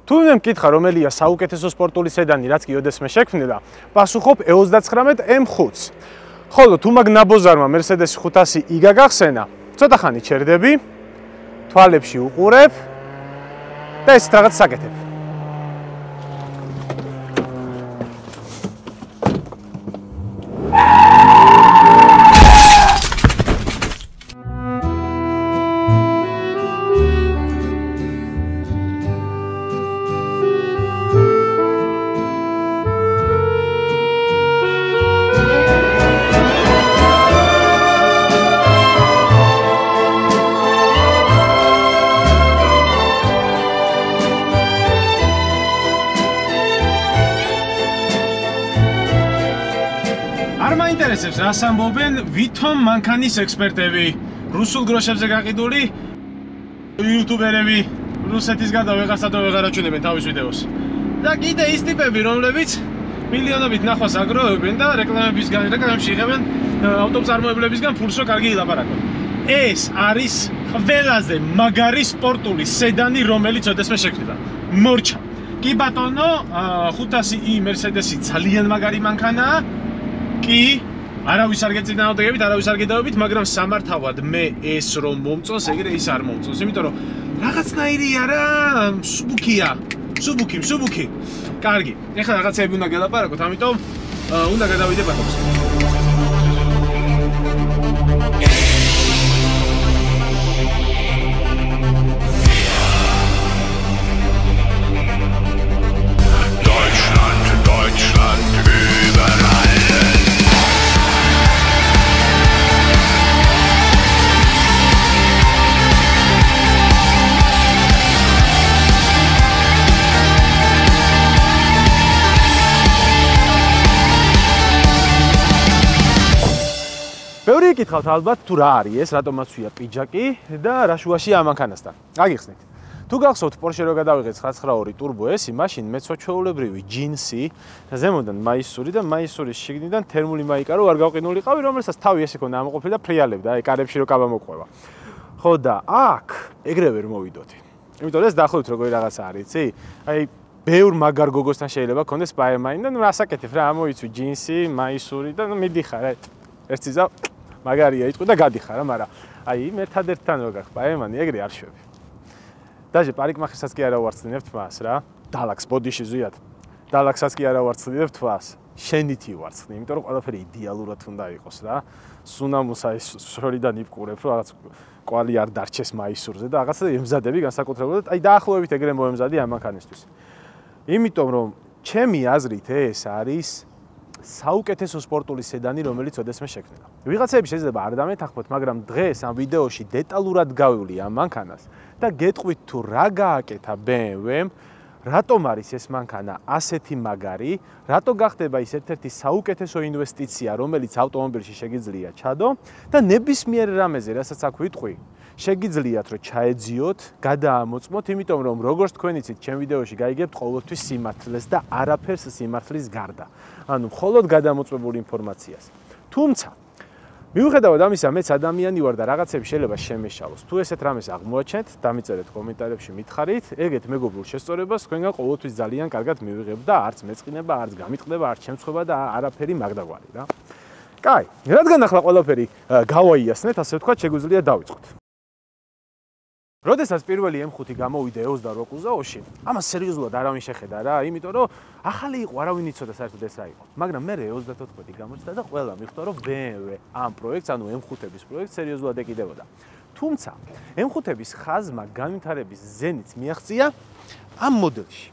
თუ მე მკითხა რომელია საუკეთესო სპორტული სედანი, რაც კი ოდესმე შექმნილა, პასუხობ E39 M5-ს. ხოლო თუ მაგ ნაბოზარმა Mercedes 500 იგა გახსენა, ცოტა ხანი ჩერდები, თვალებში უყურებ და ეს რაღაც საკეთებ. მაინტერესებს რას ამბობენ ვითომ მანქანის ექსპერტები, რუსულ გროშებზე გაყიდული იუთუბერები, რუსეთის გარდა ვეღარსა და ვეღარ აჩვენებენ თავის ვიდეოს. და კიდე ის ტიპები, რომლებიც მილიონობით ნახვას აგროვებენ და რეკლამებში იღებენ ავტომწარმოებლებისგან ფულს, რომ კარგი ილაპარაკონ. ეს არის ყველაზე მაგარი სპორტული სედანი, რომელიც ოდესმე შექმნილა. მორჩა. კი ბატონო, 500i Mercedes-ი ძალიან მაგარი მანქანაა. კი, არავის არ გეწინააღმდეგებით, არავის არ გედავებით, მაგრამ სამართავად მე ეს რომ მომწონს, ეგრე ის არ მომწონს, იმიტომ რომ რაღაცნაირი არა, მსუბუქია. მსუბუქი. კარგი, ეხლა რაღაცები უნდა გელაპარაკოთ, ამიტომ უნდა გადავიდე ბატონს. ბევრი იკითხავთ ალბათ თუ რა არის ეს, რატომ აცვია პიჯაკი და რა შუაშია ამ მანქანასთან. გაგიხსნით. თუ გახსოვთ Porsche რო გადავიღეთ 992 Turbo S-ი, მაშინ მეცოჩვეულებრივი ჯინსი და ზემოდან მაისური და მაისურის შიგნიდან თერმული მაიკა რო არ გავყინულიყავი, რომელსაც თავი ესე ქონდა ამოყოფილი და ფრიალებდა, აი კარებში რო კაბა მოყვება. ხო და აქ ეგრე ვერ მოვიდოდი. იმიტომ რომ ეს დაახლოებით როგორი რაღაცა არის, იცი? აი ბევრ მაგარ გოგოსთან შეიძლება ქონდეს Spider-Man და რასაკეთებ რა, ამოიცვი ჯინსი, მაისური და მიდიხარ, აი ერთი ზა მაგარია იტყვი და გადიხარ, მაგრამ აი მე ერთადერთთან რო გახ Spider-Man-ი ეგრე არ შვები. დაჟე პარიკმახერსაც კი არა ვარცხნინებთ მას რა. დალაქს ბოდიში ზვიად. დალაქსაც კი არა ვარცხნინებთ მას. შენითი ვარცხნი, იმიტომ რომ ყველაფერი იდეალურად უნდა იყოს რა. სუნამუს აი შორიდან იპყურებ, რომ რაღაც კვალი არ დარჩეს მაისურზე და რაღაცა ემზადები განსაკუთრებულად. აი დაახლოებით ეგრე მოემზადი ამ მანქანისთვის. იმიტომ რომ ჩემი აზრით ეს არის საუკეთესო სპორტული სედანი, რომელიც ოდესმე შექმნილა. ვიღაცები შეიძლება არ დამეთანხმოთ, მაგრამ დღეს ამ ვიდეოში დეტალურად გავივლი ამ მანქანას და გეტყვით თუ რა გააკეთა BMW-მ, რატომ არის ეს მანქანა ასეთი მაგარი, რატო გახდება ის ერთ-ერთი საუკეთესო ინვესტიცია, რომელიც ავტომობილში შეგიძლია ჩადო და ნებისმიერ რამეზე, რასაც აქ ვიტყვი, შეგიძლიათ რომ ჩაეძიოთ, გადაამოწმოთ, იმიტომ რომ როგორც თქვენ იცით, ჩემ ვიდეოში გაიგებთ ყოველთვის სიმართლეს და არაფერს სიმართლის გარდა. ანუ მხოლოდ გადამოწმებული ინფორმაციას. თუმცა მიუხედავად ამისა, მეც ადამიანი ვარ და რაღაცები შეიძლება შემეშალოს. თუ ესეთ რამეს აღმოაჩენთ, დამიწერეთ კომენტარებში, მითხარით, ეგეთ მეგობრულ შესწორებას თქვენგან ყოველთვის ძალიან კარგად მივიღებ და არც მეწყინება, არც გამიტყდება, არც შემცხვება და არაფერი მაგდაგვარი რა. კაი, რადგან ახლა ყველაფერი გავაიასნეთ, ასე ვთქვათ, შეგვიძლია დავიწყოთ. როდესაც პირველი M5 გამოვიდა 28 კუზაოში, ამას სერიოზულად არავინ შეხედა რა, იმიტომ რომ ახალი იყო, არავინ იცოდა საერთოდ ეს რა იყო. მაგრამ მე 34 გამოჩნდა და ყველა მიხვდა, რომ BMW ამ პროექტს, ანუ M5-ების პროექტს სერიოზულად ეკიდებოდა. თუმცა, M5-ების ხაზმა განვითარების ზენიტს მიაღწია ამ მოდელში.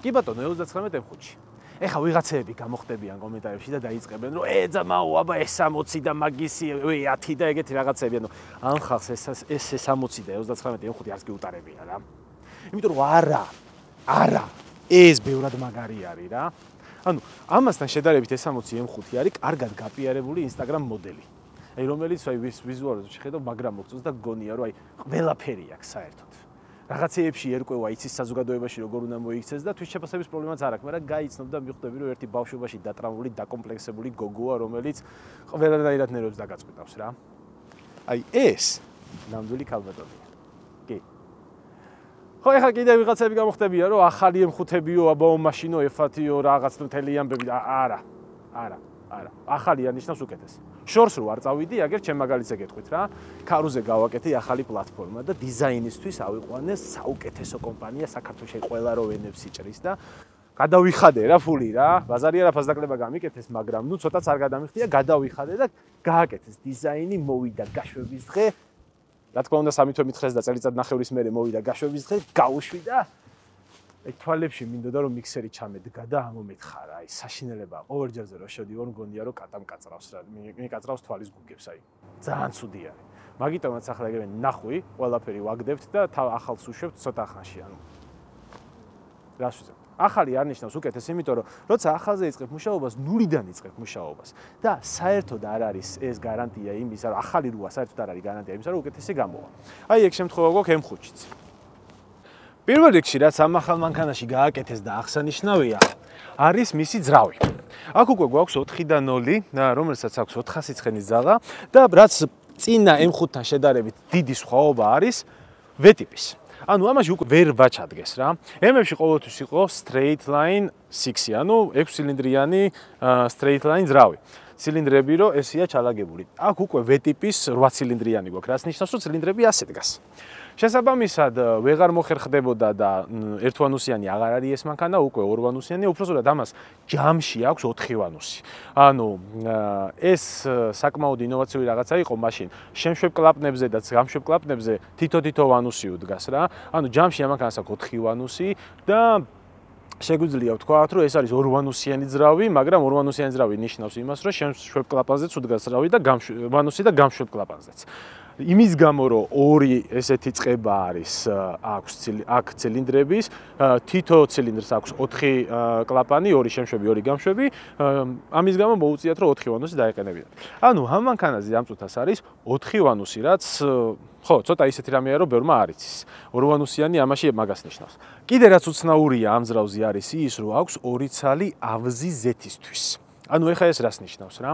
კი ბატონო, 39 M5-ში. ეხა ვიღაცები გამოხდებიან კომენტარებში და დაიწყებენ რომ ეძამაო აბა S60 და მაგისი 10 და ეგეთი რაღაცები ანუ ამ ხალხს ეს S60 და 39 M5 არც გიუტარებია რა. იმიტომ რომ არა ეს ბევრად მაგარი არის რა. ანუ ამასთან შედარებით S60 M5 არის კარგად გაპიარებული Instagram მოდელი. აი რომელიც აი ვიზუალურად შეხედავ მაგრამ მოგწონს და გონია რომ აი ყველაფერი აქვს საერთოდ. რაღაცეებში ერკვევა იცის საზოგადოებაში როგორ უნდა მოიქცეს და თვით შეფასების პრობლემაც არ აქვს, მაგრამ გაიცნობ და მიხვდები რომ ერთი ბავშვობაში დატრაუმული, დაკომპლექსებული გოგოა, რომელიც ყველანაირად ნერვებს დაგაწყვეტავს რა. აი ეს ნამდვილი ქალბატონია. კი. ხო, ეხლა კიდე ვიღაცები გამოხდებიან, რომ ახალი M5-ებიო, აბაო მაშინო F-ათიო, რაღაც მთელი ამბები. არა. ახალი არნიშნავს უკეთეს. შორს რო არ წავიდი, აგერ ჩემ მაგალითზე გეტყვით რა. ქარუზე გავაკეთე ახალი პლატფორმა და დიზაინისთვის ავიყვანე საუკეთესო კომპანია საქართველოში ყველა რო ვენებს იჭრის და გადავიხადე რა ფული რა. ბაზარი არაფას დაკლება გამიკეთეს, მაგრამ ნუ ცოტაც არ გადამიხდია, გადავიხადე და გააკეთეს დიზაინი, მოვიდა გაშვების დღე. რა თქმა უნდა, 3 თვე მითხეს და წელიწად ნახევრის მერე მოვიდა გაშვების დღე, გავუშვი და თვალებში მინდოდა რომ მიქსერი ჩამედგა და ამომეთხარა, აი საშინელებაა. ყოველჯერზე რო შევდივარ, მგონია რომ კატამ კაწრავს რა, მიკაწრავს თვალის გუგებს, აი. ძალიან ცუდი არის. მაგიტომაც ახლა ეგრევე ნახვი, ყველაფერი ვაგდებთ და ახალს უშვებთ ცოტა ხანში, ანუ. რას ვიზამ? ახალი არნიშნავს უკეთეს, იმიტომ რომ როცა ახალზე იწყებ მუშაობას, ნულიდან იწყებ მუშაობას და საერთოდ არ არის ეს გარანტია იმისა, რომ ახალი როა საერთოდ არ არის გარანტია იმისა, რომ უკეთესი გამოვა. აი ეგ შემთხვევა გვაქვს M5-იც. პირველ რიგში რაც ამ ახალ მანქანაში გააკეთეს და აღსანიშნავია, არის მისი ძრავი. აქ უკვე გვაქვს 4-დან 0, რომელსაც აქვს 400 ცხენის ძაღა და რაც წინა M5-თან შედარებით დიდი სხვაობა არის V-ტიპის. ანუ ამაში უკვე ვერ ვაჩადგეს რა. M-ებში ყოველთვის იყო straight line 6, ანუ 6 ცილინდრიანი straight line ძრავი. ცილინდრები რო ესეა ჩალაგებული. აქ უკვე V-ტიპის 8 ცილინდრიანი გვაქვს, რაც ნიშნავს, რომ ცილინდრები ასე დგას. შესაბამისად, ვეღარ მოხერხდებოდა და ერთვანუსიანი აღარ არის ეს მანქანა, უკვე ორვანუსიანი, უпроსტად ამას ჯამში აქვს 4 ვანუსი. ანუ ეს საკმაოდ ინოვაციური რაღაცა იყო მაშინ. შემშვებ კლაპნებზე და გამშვებ კლაპნებზე თითო ვანუსი უდგას რა. ანუ ჯამში ამ მანქანას აქვს 4 ვანუსი და შეგვიძლია ვთქვათ, რომ ეს არის ორვანუსიანი ძრავი, მაგრამ ორვანუსიანი ძრავი ნიშნავს იმას, რომ შემშვებ კლაპანზეც უდგას ძრავი და ვანუსი და გამშვებ კლაპანზეც. იმის გამო რომ ორი ესეთი წყება არის აქ ცილინდრების, თითო ცილინდრს აქვს 4 კლაპანი, 2 შემშვები, 2 გამშვები, ამის გამო მოუწიათ რომ 4 ვანუსი დაეყენებინათ. ანუ ამ მანქანაზე ამ წუთას არის 4 ვანუსი, რაც ხო, ცოტა ისეთი რამეა რომ ბევრმა არ იცის. ორვანუსიანი ამაში მაგას ნიშნავს. კიდე რაც უცნაურია ამ ძრავზე არის ის, რომ აქვს 2 ცალი ავზი ზეთისთვის. ანუ ეხა ეს რას ნიშნავს რა?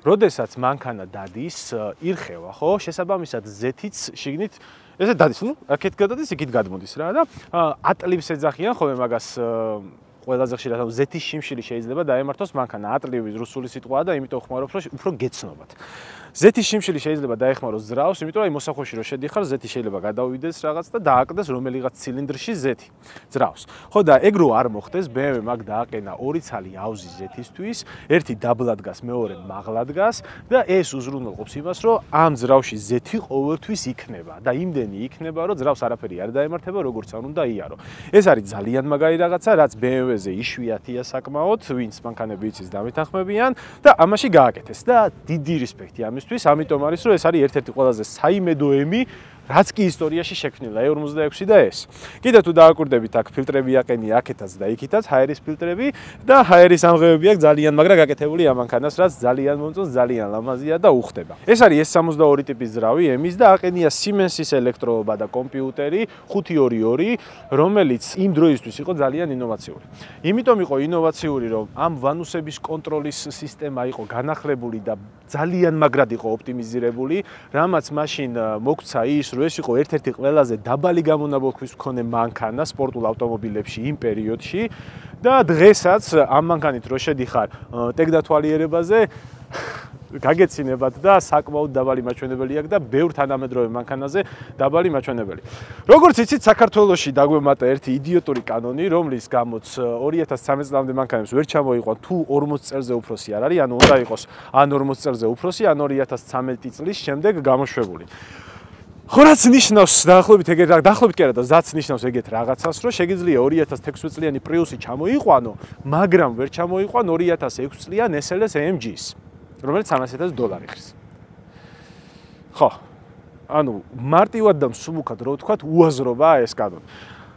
როდესაც მანქანა დადის, ირხევა, ხო? შესაბამისად ზეთიც შიგნით ესე დადის, ნუ აქეთ გადადის, იქით გადმოდის რა და ატლივს ეძახიან ხოლმე მაგას ყველაზე ხშირად, ანუ ზეთის შიმშილი შეიძლება დაემართოს მანქანა. ატლივი რუსული სიტყვაა და იმიტომ ხმარობ, რომ უფრო გეცნობათ. ზეთის შიმშილი შეიძლება დაეხმაროს ძრავს, იმიტომ რომ აი მოსახვეში რო შედიხარ, ზეთი შეიძლება გადავიდეს რაღაც და დააკდეს რომელიღაც ცილინდრში ზეთი ძრავს. ხო და ეგ რო არ მოხდეს, BMW მაგ დააყენა 2 ცალი ავზი ზეთისთვის, ერთი დაბლა დგას, მეორე მაღლა დგას და ეს უზრუნველყოფს იმას, რომ ამ ძრავში ზეთი ყოველთვის იქნება და იმდენი იქნება, რომ ძრავს არაფერი არ დაემართება, როგორც არ უნდა იარო. ეს არის ძალიან მაგარი რაღაცა, რაც BMW-ზე იშვიათია საკმაოდ, ვინც მანქანები იცის დამეთანხმებიან და ამაში გააკეთეს და დიდი რესპექტი ამისთვის, ამიტომ არის რომ ეს არის ერთ-ერთი ყველაზე საიმედო ემი, რაც კი ისტორიაში შექმნილა E46 და ეს. კიდე თუ დააკვირდებით, აქ ფილტრები აყენი აქეთაც და იქითაც, ჰაერის ფილტრები და ჰაერის ამღებები აქვს ძალიან, მაგრამ გაკეთებული ამ მანქანას, რაც ძალიან მომწონს, ძალიან ლამაზია და უხდება. ეს არის S62 ტიპის ძრავი ემის და აყენია Siemens-ის ელექტროობა და კომპიუტერი 522, რომელიც იმ დროისთვის იყო ძალიან ინოვაციური. იმიტომ იყო ინოვაციური, რომ ამ ვანუსების კონტროლის სისტემა იყო განახლებული და ძალიან მაგრად იყო ოპტიმიზირებული, რამაც მაშინ მოგცა ის, რომ ეს იყო ერთ-ერთი ყველაზე დაბალი გამონაბოლქვის მქონე მანქანა სპორტულ ავტომობილებში იმ პერიოდში და დღესაც ამ მანქანით რო შედიხარ ტექდათვალიერებაზე გაგეცინებათ და საკმაოდ დაბალი მაჩვენებელი აქვს და ბევრ თანამედროვე მანქანაზე დაბალი მაჩვენებელი. როგორც იცით, საქართველოში დაგვემატა ერთი იდიოტური კანონი, რომლის გამოც 2013 წლამდე მანქანებს ვერ ჩამოიყვან თუ 40 წელზე უფროსი არ არის, ანუ უნდა იყოს ან 40 წელზე უფროსი, ან 2013 წლის შემდეგ გამოშვებული. ხო რაც ნიშნავს დაახლოებით ეგეთ დაახლოებით კი არა და ზაც ნიშნავს ეგეთ რაღაცას, რომ შეგიძლია 2016 წლიანი პრიუსი ჩამოიყვანო, მაგრამ ვერ ჩამოიყვან 2006 წლიან SLS AMG-ს, რომელიც $300,000 ხრის. ხო. ანუ მარტივად და მსუბუქად რო ვთქვათ, უაზრობაა ეს კანონი.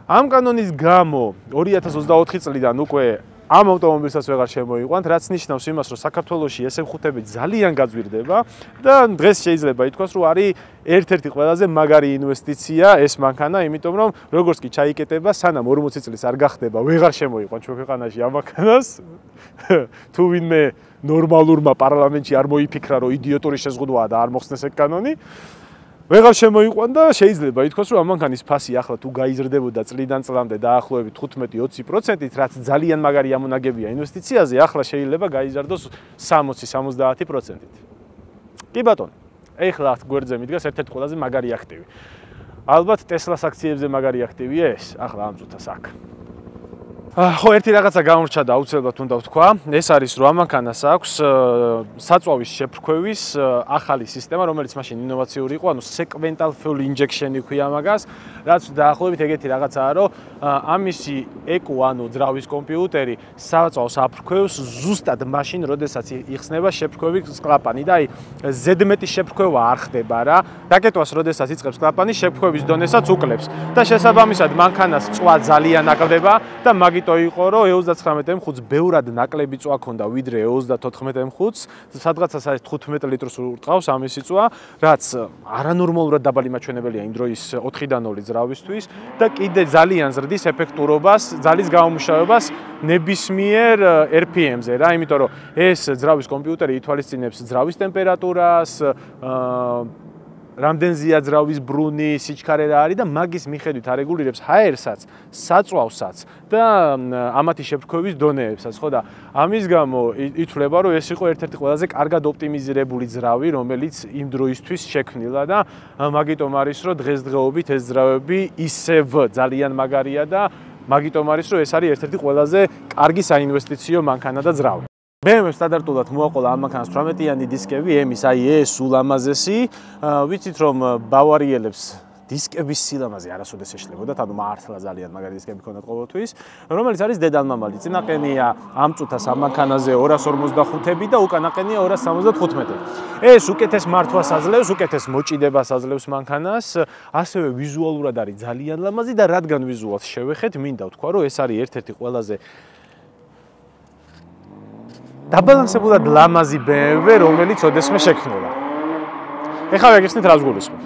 ამ კანონის გამო 2024 წლიდან უკვე ამ ავტომობილსაც ვეღარ შემოიყვანთ, რაც ნიშნავს იმას, რომ საქართველოში SM5-ები ძალიან გაძვირდება და დღეს შეიძლება ითქვას, რომ არის ერთ-ერთი ყველაზე მაგარი ინვესტიცია ეს მანქანა, იმიტომ რომ როგორც კი ჩაიკეტება, სანამ 40 წლის არ გახდება, ვეღარ შემოიყვან ჩვენ ქვეყანაში ამ მანქანას. თუ ვინმე ნორმალურმა პარლამენტში არ მოიფიქრა, რომ იდიოტური შეზღუდვაა და არ მოხსნეს ეგ კანონი. ვეღარ შემოიყვან და შეიძლება ითქვას, რომ ამანქანის ფასი ახლა თუ გაიზრდებოდა წლიდან წლამდე დაახლოებით 15-20%-ით, რაც ძალიან მაგარი ამონაგებია ინვესტიციაზე, ახლა შეიძლება გაიზარდოს 60-70%-ით. კი ბატონო, ეხლა გვერდზე მიდგას ერთ-ერთი ყველაზე მაგარი აქტივი. ალბათ Tesla-ს აქციებზე მაგარი აქტივია ეს, ახლა ამ წუთას აქ. ხო, ერთი რაღაცა გამორჩა და აუცილებლად უნდა ვთქვა, ეს არის რომ ამანქანას აქვს საწვავის შეფრქვევის ახალი სისტემა, რომელიც მაშინ ინოვაციური იყო, ანუ sequential fuel injection ქვია მაგას, რაც დაახლოებით ეგეთი რაღაცაა, რომ ამისი ECU, ანუ ძრავის კომპიუტერი საწვავს აფრქვევს ზუსტად მაშინ, როდესაც იხსნება შეფრქვევის კლაპანი და აი ზედმეტი შეფრქვევა არ ხდება რა. რაკეტვას როდესაც იწყებს კლაპანი, შეფრქვევის დონესაც უკლებს და შესაბამისად მანქანას წვა ძალიან აკლდება და то იყო რომ 39 M5-ს ბევრად ნაკლები წვა ქონდა ვიდრე 34 M5-ს, სადღაცას არის 15 ლიტრს ურტყავს ამისი წვა, რაც არანორმალურად დაბალი მაჩვენებელია იმ დროის 4-დან 0 ძრავისთვის და კიდე ძალიან ზრდის ეფექტურობას, ძალის გამომუშავებას ნებისმიერ RPM-ზე რა, იმიტომ რომ ეს ძრავის კომპიუტერი ითვალისწინებს ძრავის ტემპერატურას, რამდენზეა ძრავის ბრუნი, სიჩქარე რა არის და მაგის მიხედვით არეგულირებს ჰაერსაც, საწვავსაც და ამათი შეფრქვევის დონეებსაც, ხო და ამის გამო ითვლება, რომ ეს იყო ერთ-ერთი ყველაზე კარგად ოპტიმიზირებული ძრავი, რომელიც იმ დროისთვის შექმნილა და მაგიტომ არის, რომ დღესდღეობით ეს ძრავები ისევ ძალიან მაგარია და მაგიტომ არის, რომ ეს არის ერთ-ერთი ყველაზე კარგი საინვესტიციო მანქანა და ძრავი. BMW სტანდარტულად მოაყოლა ამანქანას 18-იანი დისკები, M-ის, აი ეს ულამაზესი, ვიცით რომ ბავარიელებს დისკების სილამაზე არასოდეს ეშლებოდათ, ანუ მართლა ძალიან მაგარი დისკები ქონდათ ყოველთვის, რომელიც არის დედალმამალი. წინაყენია ამ წუთას ამანქანაზე 255-ები და უკანაყენია 275-ები. ეს უკეთეს მართვას აძლევს, უკეთეს მოჭიდებას აძლევს მანქანას, ასევე ვიზუალურად არის ძალიან ლამაზი და რადგან ვიზუალს შევეხეთ, მინდა ვთქვა, რომ ეს არის ერთ-ერთი ყველაზე დაბალანსებულად ლამაზი BMW, რომელიც ოდესმე შექმნილა. ეხლა ვეგიხსნით რას გულისხმობ.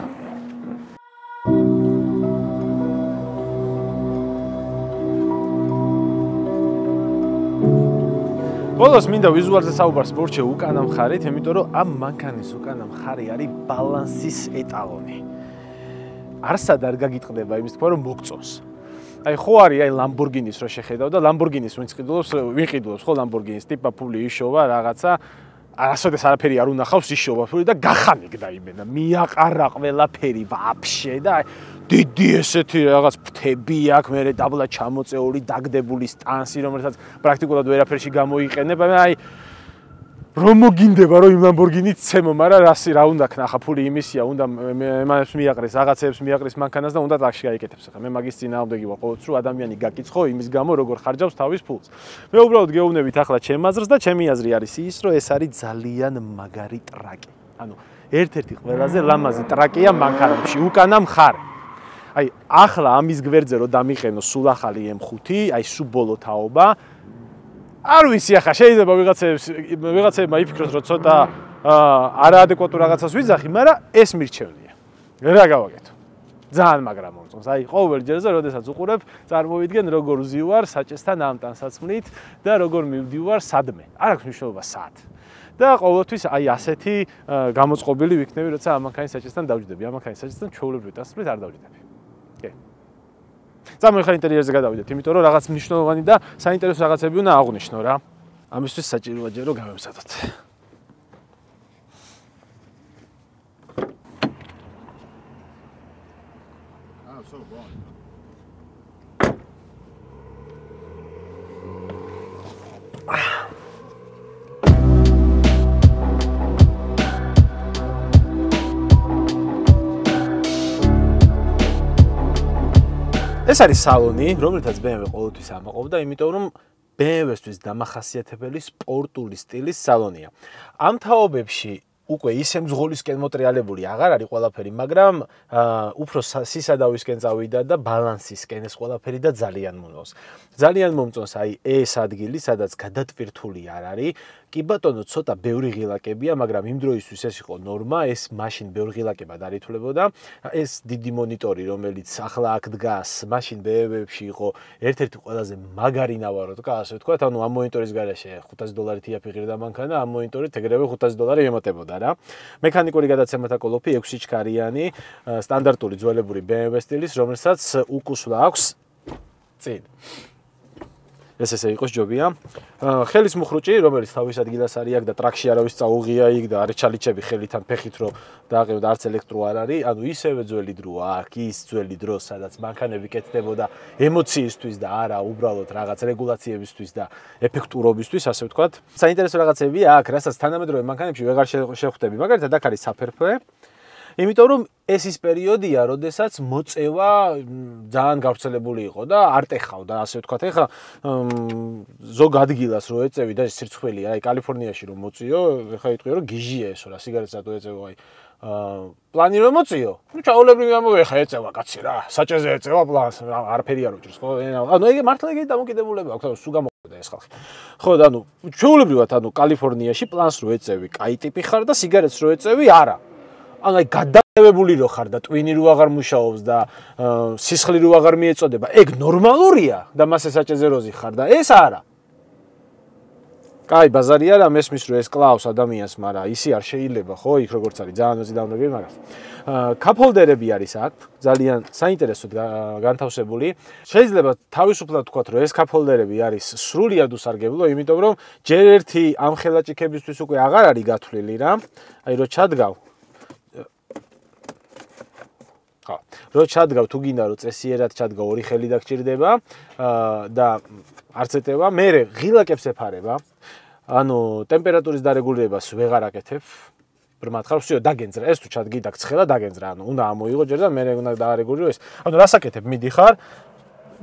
ბოლოს მინდა ვიზუალზე საუბარს მორჩე უკანა მხარით, იმიტომ რომ ამ მანქანის უკანა მხარე არის ბალანსის ეტალონი. არსად არ გაგიტყდება იმის თქვა, რომ მოგწონს. აი ხო არის აი Lamborghini-ს რო შეხედავ და Lamborghini-ს ვიყიდულობს ხო Lamborghini-ს ტიპა ფული იშოვა რაღაცა არასოდეს არაფერი არ უნახავს იშოვა ფული და გახანიკდა იმენა მიაყარა ყველაფერი ვაფშე და დიდი ესეთი რაღაც ფრთები აქვს მე დაბლა ჩამოწეული დაგდებული სტანსი რომელსაც პრაქტიკულად ვერაფერში გამოიყენება აი რომ მოგინდება რომ იმ Lamborghini-ს ცემო, მაგრამ რა უნდა ქნა, ფული იმისია, უნდა მანებს მიაყრეს, რაღაცებს მიაყრეს მანქანას და უნდა ტაქში გაიკეთებს. ხა მე მაგის წინააღმდეგი ვარ ყოველთვის, რომ ადამიანი გაკიცხო იმის გამო, როგორ ხარჯავს თავის ფულს. მე უბრალოდ გეუბნებით ახლა ჩემ აზრს და ჩემი აზრი არის ის, რომ ეს არის ძალიან მაგარი ტრაკი. ანუ ერთ-ერთი ყველაზე ლამაზი ტრაკია მანქანებში, უკანა მხარე. აი, ახლა ამის გვერდზე რომ დამიყენო სულ ახალი M5, აი სულ ბოლო თაობა არ ვიცი ახლა შეიძლება ვიღაცებმა იფიქროს რომ ცოტა არაადეკვატურ რაღაცას ვიძახი, მაგრამ ეს მირჩევნია. რა გავაკეთო? ძალიან მაგრა მომწონს. აი ყოველ ჯერზე როდესაც უყურებ, წარმოვიდგენ როგორ ვზივარ საჭესთან ამ ტანსაცმლით და როგორ მივდივარ სადმე. არ აქვს მნიშვნელობა სად. და ყოველთვის აი ასეთი გამოწყობილი ვიქნები, როცა ამანქანის საჭესთან დავჯდები. ამანქანის საჭესთან ჩვეულებრივი ტანსაცმლით არ დავჯდები. კი. წამოიხარ ინტერიერზე გადავიდეთ, იმიტომ რომ რაღაც მნიშვნელოვანი და საინტერესო რაღაცები უნდა აღვნიშნო რა. ამისთვის საჭიროა ჯერ რომ გავემზადოთ. ეს არის სალონი, რომელთაც BMW ყოველთვის ამაყობდა, იმიტომ რომ BMW-ისთვის დამახასიათებელი სპორტული სტილის სალონია. ამ თაობებში უკვე ისე მძღოლისკენ მოტრიალებული აღარ არის ყველაფერი, მაგრამ უფრო სისადავისკენ წავიდა და ბალანსისკენ ეს ყველაფერი და ძალიან მომწონს. ძალიან მომწონს აი ეს ადგილი, სადაც გადატვირთული არ არის კი ბატონო, ცოტა ბევრი ღილაკებია, მაგრამ იმ დროისთვის ეს იყო ნორმა, ეს მაშინ ბევრი ღილაკება დაითვლებოდა. ეს დიდი მონიტორი, რომელიც ახლა აქ დგას, მაშინ BMW-ებში იყო ერთ-ერთი ყველაზე მაგარი ნავარო, ასე ვთქვათ, ანუ ამ მონიტორის გარეშე $500 იაფიღირდა მანქანა, ამ მონიტორით ეგრევე $500 ემატებოდა რა. მექანიკური გადაცემათა კოლოფი 6 ჩქარიანი, სტანდარტული ძველებური BMW სტილის, რომელსაც უკუსვლა აქვს წინ. ესე იყოს ჯობია. ხელის მუხრუჭი, რომელიც თავის ადგილას არის აქ და ტრაქში არავის წაუღია იქ და არის ჩალიჩები ხელიდან ფეხით რომ დააყევდა არც ელექტრო არ არის, ანუ ისევე ძველი დროა აქ, ის ძველი დრო, სადაც მანქანები კეთდებოდა ემოციისთვის და არა უბრალოდ რაღაც რეგულაციებისთვის და ეფექტურობისთვის, ასე ვთქვათ. საინტერესო რაღაცებია აქ, რასაც თანამედროვე მანქანებში ვეღარ შეხვდები. მაგალითად, აქ არის საფერფლე. იმიტომ რომ ეს ის პერიოდია, როდესაც მოწევა ძალიან გავრცელებული იყო და არ ტეხავდა, ასე ვთქვათ. ეხლა ზოგ ადგილას რო ეწევი და სირცხვილია, აი კალიფორნიაში რომ მოწიო, ეხლა იტყვია რომ გიჟია ესო რა, სიგარეტს რატო ეწევო, აი პლანი რომ მოწიო? ნუ ჩაოლებრივი ამოვე ხა ეწევა კაცი რა, საჭეზე ეწევა პლანს, არაფერი არ უჭირს, ხო? ანუ ეგ მართლა ეგ დამოკიდებულება აქვს, სულ გამოყვება ეს ხალხი. ხო და ანუ ჩაოლებრივად ანუ კალიფორნიაში პლანს რო ეწევი, კაი ტიპი ხარ და სიგარეტს რო ეწევი, არა. ანუ აი გადადებებული რო ხარ და ტვინი რო აღარ მუშაობს და სისხლი რო აღარ მიეწოდება, ეგ ნორმალურია და მასე საჭეზეროზი ხარ და ეს არა. კაი, ბაზარი არა, მესმის რომ ეს კლავს ადამიანს, მაგრამ ისი არ შეიძლება, ხო, იქ როგორც არის, ძალიან მოზიდავნები მაგას. კაპჰოლდერები არის აქ, ძალიან საინტერესოდ განთავსებული. შეიძლება თავისუფლად ვთქვათ, რომ ეს კაპჰოლდერები არის სრულიად უსარგებლო, იმიტომ რომ ჯერ ერთი ამ ხელაჭიქებისთვის უკვე აღარ არის გათვლილი რა. აი რო ჩადგავ რო ჩადგავ თუ გინდა რომ წესიერად ჩადგავ ორი ხელი დაგჭირდება და არც ეტევა, მე ღილაკებს ეფარება. ანუ ტემპერატურის დარეგულირებას ვეღარ აკეთებ. ბრმად ხარ, всё, დაგენძრა. ეს თუ ჩადგი დაგცხელა, დაგენძრა. ანუ უნდა ამოიღო ჯერ და მე უნდა დაარეგულირო ეს. ანუ რას აკეთებ? მიდიხარ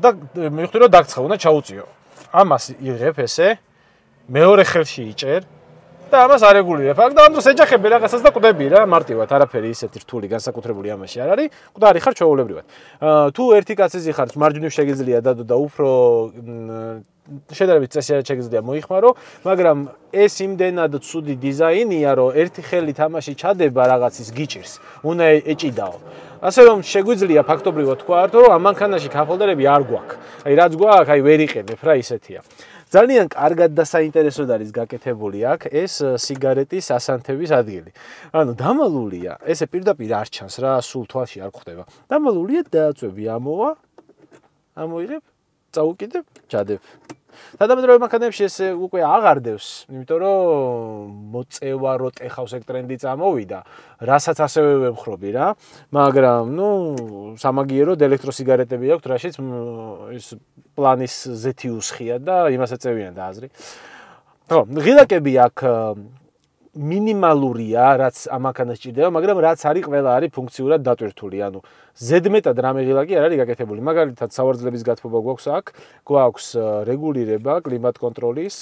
და მივხვდი რომ დაგცხა, უნდა ჩაუწიო. ამას იღებ ესე, მეორე ხელში იჭერ და ამას არეგულირებ. აქ და ამ დროს ეჯახები რაღაცას და კვდები რა, მარტივად, არაფერი ისეთი რთული განსაკუთრებული ამაში არ არის. კვდარი ხარ ჩვეულებრივად. თუ ერთი კაცი ხარ, მარჯვნივ შეგიძლია დადო და უფრო შედარებით წესიერ შეგიძლია მოიხმარო, მაგრამ ეს იმდენად ცუდი დიზაინია, რომ ერთი ხელი თამაში ჩადება რაღაცის გიჭირს, უნდა ეჭიდაო. ასე რომ შეგვიძლია ფაქტობრივად თქვა, რომ ამ მანქანაში კაპჰოლდერები არ გვაქვს. აი რაც გვაქვს, აი ვერ იყენებ რა, ისეთია. ძალიან კარგად და საინტერესოდ არის გაკეთებული აქ ეს სიგარეტის ასანთების ადგილი. ანუ დამალულია, ესე პირდაპირ არ ჩანს რა, სულ თვალში არ გვხდება. დამალულია დააწვევი ამოვა, ამოიღებ, წაუკიდებ, ჩადებ. თანამედროვე მანქანებში ეს უკვე აღარ დევს, იმიტომ რომ მოწევა რო ტეხავს ეგ ტრენდი წამოვიდა, რასაც ასევე ვემხრობი რა, მაგრამ ნუ სამაგიეროდ ელექტროსიგარეტები აქვთ, რაშიც ის პლანის ზეთიუსხია და იმას ეწევიან და აზრი. ხო, ღილაკები აქ მინიმალურია, რაც ამ მანქანას ჭირდება, მაგრამ რაც არის, ყველა არის ფუნქციურად დატვირთული, ანუ ზედმეტად რამე ღილაკი არ არის გაკეთებული. მაგალითად, სავარძლების გათბობა გვაქვს აქ, გვაქვს რეგულირება კლიმატ კონტროლის,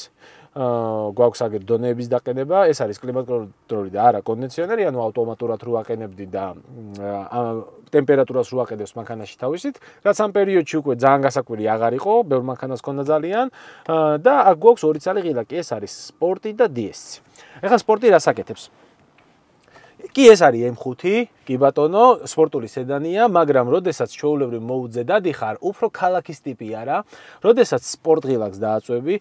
გვაქვს აგერ დონეების დაყენება, ეს არის კლიმატ კონტროლი და არა კონდიციონერი, ანუ ავტომატურად რო აყენებდი და ტემპერატურას რო აყენებს მანქანაში თავისით, რაც ამ პერიოდში უკვე ძალიან გასაკვირი აღარ იყო, ბევრ მანქანას ჰქონდა ძალიან და აქ გვაქვს ორი ცალი ღილაკი, ეს არის სპორტი და DS. ეხლა სპორტი რას აკეთებს? კი ეს არის M5, კი ბატონო, სპორტული სედანია, მაგრამ როდესაც ჩვეულებრივ მოუძე დადიხარ, უფრო ქალაქის ტიპი არა, როდესაც სპორტ ღილაკს დააწვევი,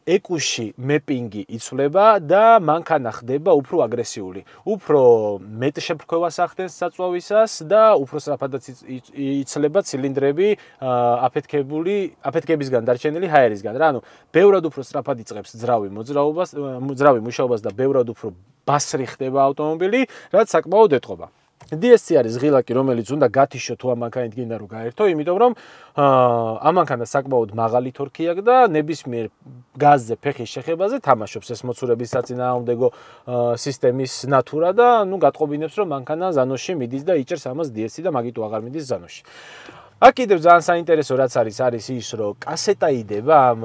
ეკუში მეპინგი იცვლება და მანქანა ხდება უფრო აგრესიული. უფრო მეტ შეფრქვევას ახდენს საწვავისას და უფრო სწრაფადაც იცლება ცილინდრები აფეთქებისგან დარჩენილი ჰაერისგან. რა, ანუ ბევრად უფრო სწრაფად იწყებს ძრავი მუშაობას და ბევრად უფრო ბასრი ხდება ავტომობილი, რაც საკმაოდ ეტყობა. DSC არის ღილაკი, რომელიც უნდა გათიშო თუ ამ მანქანით გინდა რომ გაერთო, იმიტომ რომ ამ მანქანას საკმაოდ მაღალი თორქი აქვს და ნებისმიერ გაზზე ფეხის შეხებაზე თამაშობს ეს მოცურების საწინააღმდეგო სისტემის ნატურა და ნუ გატყობინებს რომ მანქანა ზანოში მიდის და იჭერს ამას DSC და მაგით უაღარ მიდის ზანოში. აქ კიდევ ძალიან საინტერესო რაც არის ის რომ კასეტა იდება ამ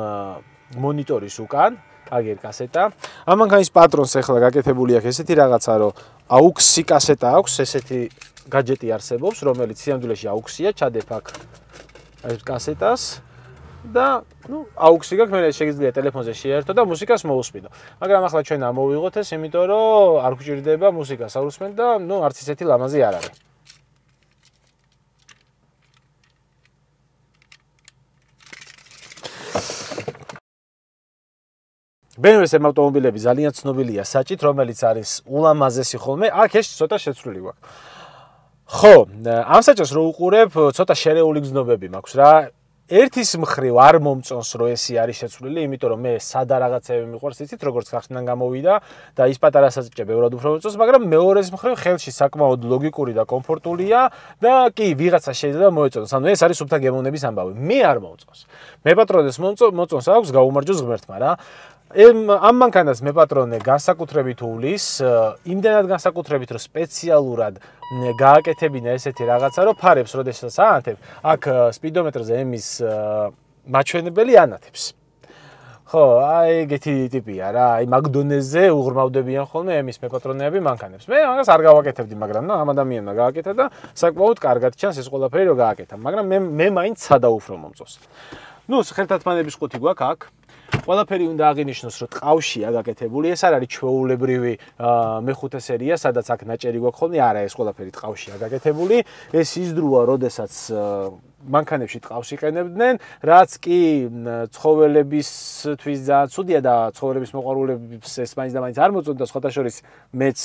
მონიტორის უკან. აგერ კასეტა. ამ მანქანის პატრონს ახლა გაკეთებული აქვს ესეთი რაღაცა, რომ AUX კასეტა აქვს, ესეთი გაჯეტი არსებობს, რომელიც სიამდვილეში AUX-ია, ჩადებ აქ ეს კასეტას და ნუ AUX-ი გაქვს, მე შეგიძლია ტელეფონზე შეერთო და მუსიკას მოусმინო. მაგრამ ახლა ჩვენ ამოვიღოთ ეს, იმიტომ რომ არ გვჭირდება მუსიკას აუსმენ და ნუ არც ისეთი ლამაზი არ არის. BMW-ს ავტომობილები ძალიან ცნობილია საჭით, რომელიც არის ულამაზესი ხოლმე. აქ ეს ცოტა შეცვლილი გვაქვს. ხო, ამ საჭოს რო უყურებ, ცოტა შერეული გზნობები მაქვს რა. ერთის მხრივ არ მომწონს რომ ესი არის შეცვლილი, იმიტომ რომ მე სადა რაღაცები მიყვარს, იცით, როგორც ხახნიდან გამოვიდა და ის პატარა საჭე ბევრად უფრო მომწონს, მაგრამ მეორეს მხრივ ხელში საკმაოდ ლოგიკური და კომფორტულია და კი ვიღაცა შეიძლება მოეწონოს. ანუ ეს არის სუფთა გემოვნების ამბავი. მე არ მომწონს. მე პატრონეს მომწონს აქვს გაუმარჯოს ღმერთმა რა. ამ მანქანას მე პატრონე განსაკუთრებით უვლის, იმდენად განსაკუთრებით რომ სპეციალურად გააკეთებინა ესეთი რაღაცა, რომ ფარებს როდესაც აანთებ, აქ სპიდომეტრზე ემის მაჩვენებელი ანათებს. ხო, აი ეგეთი ტიპია რა, აი მაგდონეზე უღრმავდებიან ხოლმე ემის მე პატრონეები მანქანებს. მე მაგას არ გავაკეთებდი, მაგრამ ნუ ამ ადამიანმა გააკეთა და საკმაოდ კარგად ჩანს ეს ყველაფერი რომ გააკეთა, მაგრამ მე მაინც სადა უფრო მომწონს. ნუ ხელთათმანების ყუთი გვაქვს აქ. ყველაფერი უნდა აღინიშნოს, რომ ტყავშია გაკეთებული. ეს არ არის ჩვეულებრივი მეხუთე სერია, სადაც აქ ნაჭერი გვაქვს ხოლმე. არა, ეს ყველაფერი ტყავშია გაკეთებული. ეს ისდრუა, როდესაც მანქანებში ტყავს იყენებდნენ, რაც კი ცხოველებისთვის ძალიან ცუდია და ცხოველების მოყვარულებს ეს მაინც და მაინც არ მოწონდა, სხვათა შორის მეც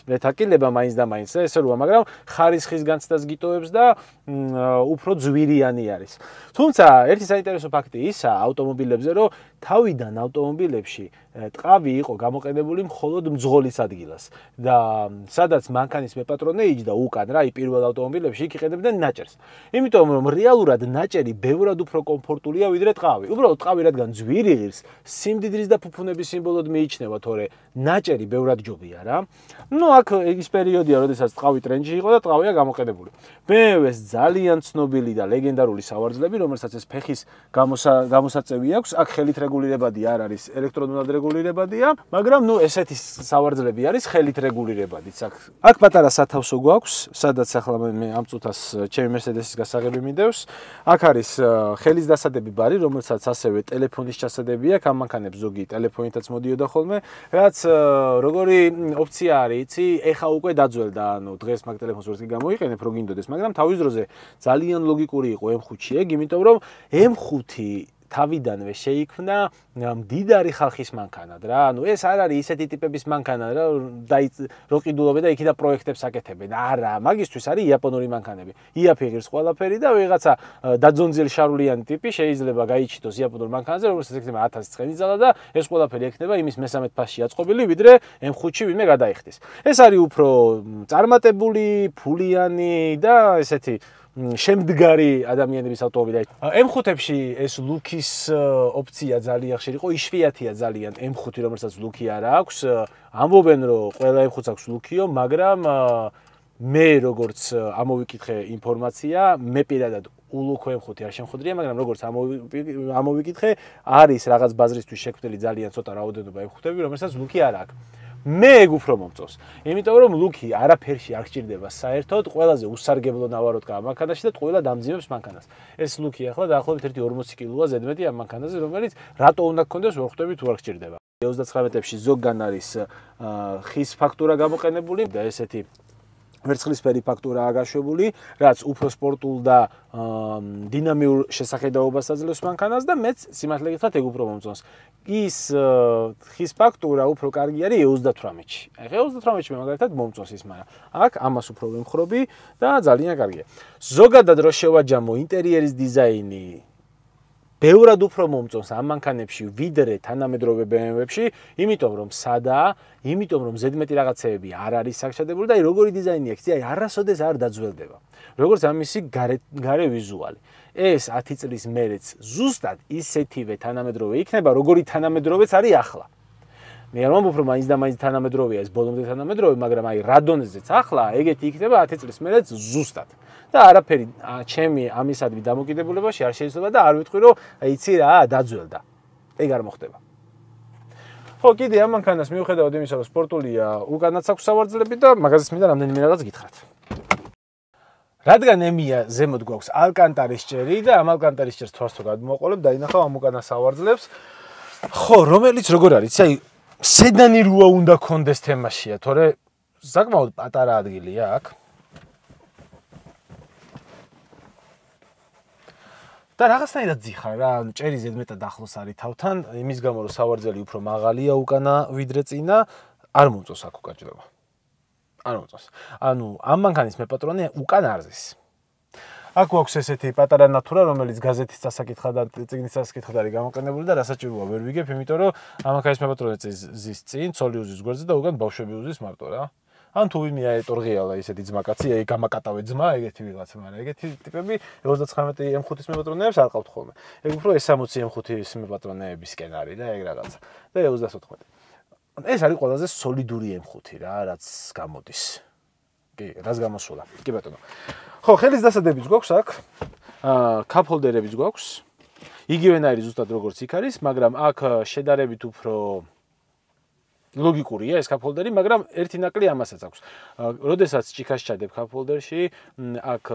მეთაკილება მაინც და მაინც და ესე როა, მაგრამ ხარისხის განცდას გიტოვებს და უფრო ძვირიანი არის. თუმცა ერთი საინტერესო ფაქტი ისაა ავტომობილებზე, რომ თავიდან ავტომობილებში ტყავი იყო გამოყენებული მხოლოდ მძღოლის ადგილას და სადაც მანქანის მეპატრონე იჯდა უკან რა, პირველ ავტომობილებში იქ იყენებდნენ ნაჭერს. იმიტომ რომ რეალურად ნაჭერი ბევრად უფრო კომფორტულია ვიდრე ტყავი. უბრალოდ ტყავი რადგან ძვირი ღირს, სიმდიდრის და ფუფუნების სიმბოლოდ მიიჩნევა, თორე ნაჭერი ბევრად ჯობია რა. ნუ აქ ის პერიოდია, როდესაც ტყავი ტრენდში იყო და ტყავია გამოყენებული. BMW-ს ძალიან ცნობილი და ლეგენდარული სავარძლები, რომელსაც ეს ფეხის გამოსაწევი აქვს, აქ ხელით რეგულირებადი არ არის, ელექტრონულად რეგულირებადია, მაგრამ ნუ ესეთი სავარძლები არის ხელით რეგულირებადიც აქ. აქ პატარა სათავსო გვაქვს, სადაც ახლა მე ამ წუთას ჩემი Mercedes-ის გასაღები მინდევს. აქ არის ხელის დასადები ბარი, რომელსაც ასევე ტელეფონის ჩასადები აქვს, ამ მანქანებს ზოგი ტელეფონითაც მოდიოდა ხოლმე, რაც როგორი ოფცია არის, იცი, ეხა უკვე დაძველდა, ანუ დღეს მაგ ტელეფონს ვერც კი გამოიყენებ, რო გინდოდეს, მაგრამ თავის დროზე ძალიან ლოგიკური იყო M5-ი ეგ, იმიტომ რომ M5 თავიდანვე შეიქმნა მდიდარი ხალხის მანქანად რა. ანუ ეს არ არის ისეთი ტიპების მანქანა რა, რო ყიდულობენ და იქი და პროექტებს აკეთებენ. არა, მაგისთვის არის იაპონური მანქანები. იაფიღირს ყველაფერი და ვიღაცა დაძონძიელ შარულიანი ტიპი შეიძლება გაიჩიტოს იაპონურ მანქანაზე, რომელსაც ექნება 1000 ცხენი ძალა და ეს ყველაფერი ექნება იმის მესამედ ფასში აწყობილი, ვიდრე M5-ში ვინმე გადაიხდის. ეს არის უფრო წარმატებული, ფულიანი და ესეთი შემდგარი ადამიანების ავტომობილი. M5-ებში ეს ლუკის ოფცია ძალიან ხშირი იყო, იშვიათია ძალიან M5, რომელსაც ლუკი არ აქვს. ამბობენ, რომ ყველა M5-ს აქვს ლუკიო, მაგრამ მე როგორც ამოვიკითხე ინფორმაცია, მე პირადად ულუქო M5 არ შემხვდრია, მაგრამ როგორც ამოვიკითხე, არის რაღაც ბაზრისთვის შექმნილი ძალიან ცოტა რაოდენობა M5-ები, რომელსაც ლუკი არ აქვს. მე ეგ უფრო მომწონს. იმიტომ რომ ლუკი არაფერში არ გჭირდება საერთოდ, ყველაზე უსარგებლო ნავაროდ გავა მანქანაში და ყველა დამძიმებს მანქანას. ეს ლუკი ახლა დაახლოებით 1.40 კილოა ზედმეტი ამ მანქანაზე, რომელიც რატო უნდა გქონდეს ვერ ხვდები თუ არ გჭირდება. 39-ებში ზოგან არის ხის ფაქტურა გამოყენებული და ესეთი ვერცხლისფერი ფაქტურაა გაშვებული, რაც უფრო სპორტულ და დინამიურ შესახედაობას აძლევს მანქანას და მეც სიმართლე გითხრათ ეგ უფრო მომწონს. ის ხის ფაქტურა უფრო კარგი არის 38-ში. ახლა 38-ში მე მაგალითად მომწონს ის, მაგრამ აქ ამას უფრო ვემხრობი და ძალიან კარგია. ზოგადად რო შევაჯამო ინტერიერის დიზაინი ბევრად უფრო მომწონს ამ მანქანებში ვიდრე თანამედროვე BMW-ებში, იმიტომ რომ სადაა, იმიტომ რომ ზედმეტი რაღაცეები არ არის საკჭადებული და როგორი დიზაინი აქვს, აი არასოდეს არ დაძველდება. როგორც ამისი გარე ვიზუალი. ეს 10 წლის მერეც ზუსტად ისეთივე თანამედროვე იქნება, როგორი თანამედროვეც არის ახლა. მე არ ვამბობ, რომ მაინც და მაინც თანამედროვეა ეს ბოლომდე თანამედროვე, მაგრამ აი რადონეზეც ახლა ეგეთი იქნება 10 წლის მერეც ზუსტად. და არაფერი ჩემი ამისადმი დამოკიდებულებაში არ შეიძლება და არ ვიტყვი, რომ იცი რა, დაძველდა. ეგ არ მოხდება. ხო, კიდე ამ მანქანას მიუხედავად იმისა, რომ სპორტულია, უკანაც აქვს სავარძლები და მაგაზეც მინდა რამდენიმე რაღაც გითხრათ. რადგან ემია ზემოთ გვაქვს ალკანტარის ჭერი და ამ ალკანტარის ჭერს თვალს თუ გადმოვაყოლებ, დაინახავ ამ უკანა სავარძლებს. ხო, რომელიც როგორ არის, აი სედანი რუა უნდა კონდეს თემაშია, თორე საკმაოდ პატარა ადგილია აქ. და რაღაცნაირად ძიხარ რა, ანუ ჭერი ზედმეტად ახლოს არის თავთან, იმის გამო რომ სავარძელი უფრო მაღალია უკანა ვიდრე წინა, არ მომწონს აქ უკაჭრება. არ მომწონს. ანუ ამ მანქანის მეპატრონე უკან არზის. აქ გვაქვს ესეთი პატარა ნატურა, რომელიც გაზეთის წასაკითხა და წიგნის წასაკითხად არის გამოყენებული და რასაჭიროა ვერ ვიგებ, იმიტომ რომ ამ მანქანის მეპატრონე ზის წინ, ცოლი უზის გვერდზე და უკან ბავშვები უზის მარტო რა. ან თუ ვინმე აეტორღიალა ისეთი ძმაკაცი, აი გამაკატავე ძმა, ეგეთი ვიღაცა, მაგრამ ეგეთი ტიპები 39 M5-ის მეპატრონეებს არ ყავთ ხოლმე. ეგ უფრო S60 M5-ის მეპატრონეებისკენ არის და ეგ რაღაცა. და 34. ეს არის ყველაზე სოლიდური M5 რა, რაც გამოდის. კი, რაც გამოსულა. კი ბატონო. ხო, ხელის დასადებიც გვაქვს აქ. კაპჰოლდერებიც გვაქვს. იგივენაირი ზუსტად როგორც იქ არის, მაგრამ აქ შედარებით უფრო ლოგიკურია ეს კაპჰოლდერი, მაგრამ ერთი ნაკლი ამასაც აქვს. როდესაც ჭიქას ჩადებ კაპჰოლდერში, აქ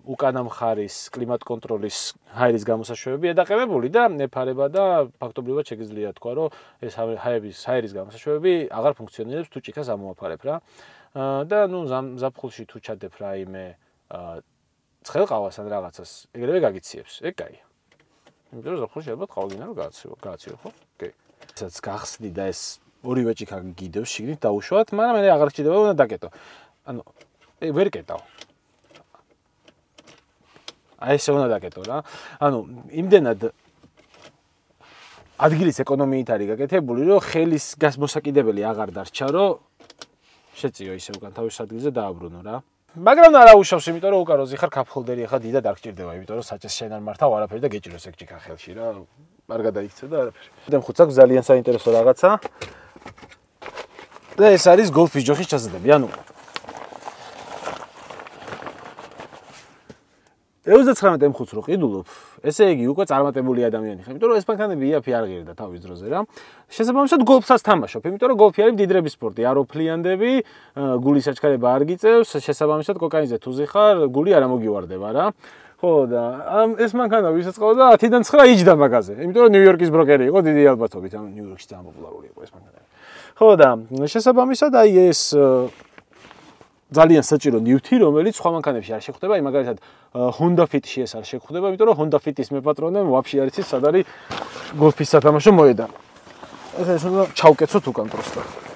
უკანა მხარის კლიმატ კონტროლის ჰაერის გამოსაშვებებია დაყენებული და ეფარება და ფაქტობრივად შეგიძლია თქვა, რომ ეს ჰაერის გამოსაშვებები აღარ ფუნქციონირებს თუ ჭიქას ამოაფარებ რა. და ნუ ზაფხულში თუ ჩადებ რაიმე ცხელყავას ან რაღაცას, ეგრევე გაგიციებს. ეგ კაია. იმიტომ რომ ზაფხულში ალბათ ყავგინა რომ გააციო, ხო? კი. ესაც გახსნი და ეს ორივე ჭიქა გიდევს შიგნით დაუშვათ, მაგრამ მე აღარ გჭირდება უნდა დაკეტო. ანუ ვერ კეტავ. აი ესე უნდა დაკეტო რა. ანუ იმდენად ადგილის ეკონომიით არის გაკეთებული, რომ ხელის გასმოსაკიდებელი აღარ დარჩა, რომ შეწიო ისე უკან თავის ადგილზე დააბრუნო რა. მაგრამ არა უშავს, იმიტომ რომ უკან როზი ხარ კაპჰოლდერი ახლა დიდად არ გჭირდება, იმიტომ რომ საჭეს შენ არ მართავ არაფერი და გეჭიროს ეგ ჭიქა ხელში რა. არ გადაიქცე და არაფერი. და მხუც აქვს ძალიან საინტერესო რაღაცა. და ეს არის გოლფის ჯოხის ჩასადები, ანუ 39 M5-ს რო ყიდულობ, ესე იგი უკვე წარმატებული ადამიანი ხარ, იმიტომ რომ ეს მანქანები იაფი არ ღირდა თავის დროზე რა. შესაბამისად გოლფსაც თამაშობ, იმიტომ რომ გოლფი არის მდიდრების სპორტი, არ ოფლიანდები, გულის საჩქარება არ გიწევს, შესაბამისად კოკაინზე თუ ზიხარ, გული არ ამოგივარდება რა. ხო და ეს მანქანა ვისაც ყავდა 10-დან 9 იჯდა მაგაზე, იმიტომ რომ ნიუ-იორკის ბროკერი იყო დიდი ალბათობით, ანუ ნიუ-იორკში ძალიან პოპულარული იყო ეს მანქანა. ხო და შესაბამისად აი ეს ძალიან საჭირო ნივთი, რომელიც სხვა მანქანებში არ შეხვდება, აი მაგალითად Honda Fit-ში ეს არ შეხვდება, იმიტომ რომ Honda Fit-ის მეპატრონე ვაფშე არ იცის, სად არის გოლფის სათამაშო მოედანი. ეს უნდა ჩავკეცოთ უკან პროსტა.